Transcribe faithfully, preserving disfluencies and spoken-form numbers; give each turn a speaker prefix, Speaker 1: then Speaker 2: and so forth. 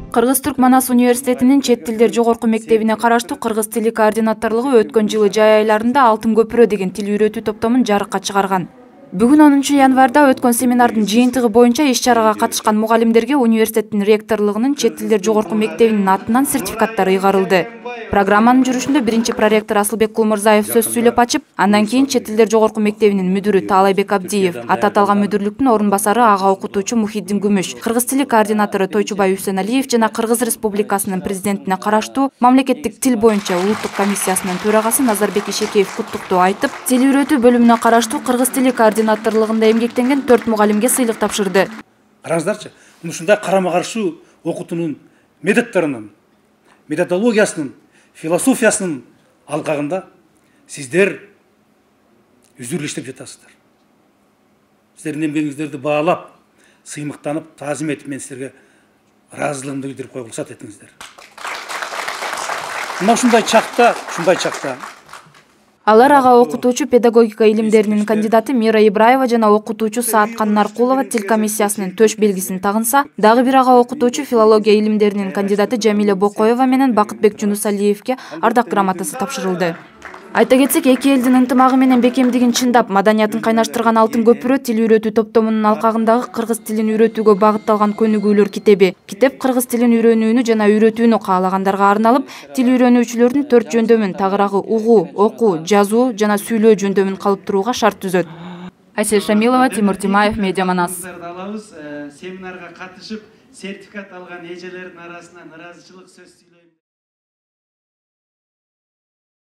Speaker 1: Кыргыз-Түрк Манас университетинин чет тилдер жогорку мектебине караштуу кыргыз тили координаторлугу өткөн жылы жай айларында Алтын көпүрө деген тил үйрөтүү топтомун жарыкка чыгарган. Бүгүн онунчу январда өткөн семинардын жыйынтыгы боюнча иш-чарага катышкан мугалимдерге университеттин ректорлугунун чет тилдер жогорку мектебинин атынан сертификаттар ыйгарылды. Программанын жүрүшүндө биринчи проректор Асылбек Кулмурзаев сөз сүйлөп ачып, андан кийин чет тилдер жогорку мектебинин мүдүрү Таалайбек Абдиев, аты аталган мүдүрлүктүн орун басары ага окутуучу Мухиддин Күмүш, кыргыз тили координатору Тойчубай Үсеналиев жана Кыргыз Республикасынын президентине караштуу мамлекеттик тил боюнча улуттук комиссиясынын төрагасы Назарбек Ишекеев куттуктоо айтып, тил үйрөтүү бөлүмүнө караштуу кыргыз тили координаторлугунда эмгектенген төрт мугалимге сыйлык тапшырды.
Speaker 2: Караңыздарчы, ушундай карама-каршы окутуунун методдорунун, методологиясынын, философиясынын алкагында сиздер үзүрлү иштеп жатасыздар. Сиздердин эмгегиңиздерди баалап, сыймыктанып, таазим этип мен сиздерге ыраазычылыгымды билдирип койгула уруксат этиңиздер. Мына ушундай чакта, ушундай чакта
Speaker 1: Алар ага окутуучу педагогика илимдеринин кандидаты Мира Ибраева жана окутуучу Сааткан Наркулова тил комиссиясынын төш белгисин тагынса, дагы бир ага окутуучу филология илимдеринин кандидаты Жамиля Бокоева менен Бакытбек Жунусалиевке ардак грамотасы тапшырылды. Айта кетсек, эки элдин ынтымагы менен бекемдигин чындап, маданиятын кайнаштырган Алтын көпүрө тил үйрөтүү топтомунун алкагындагы кыргыз тилин үйрөтүүгө багытталган көнүгүүлөр китеби. Китеп кыргыз тилин үйрөнүүнү жана үйрөтүүнү каалагандарга арналып, тил үйрөнүүчүлөрдүн төрт жөндөмүн тагыраагы угуу, окуу, жазуу жана сүйлөө жөндөмүн калыптырууга шарт түзөт. Айсел Шамилова, Тимур Тимаев, Медиа Манас.
Speaker 3: Семинарга катышып, сертификат алган эжелердин арасынан ыраазычылык сөз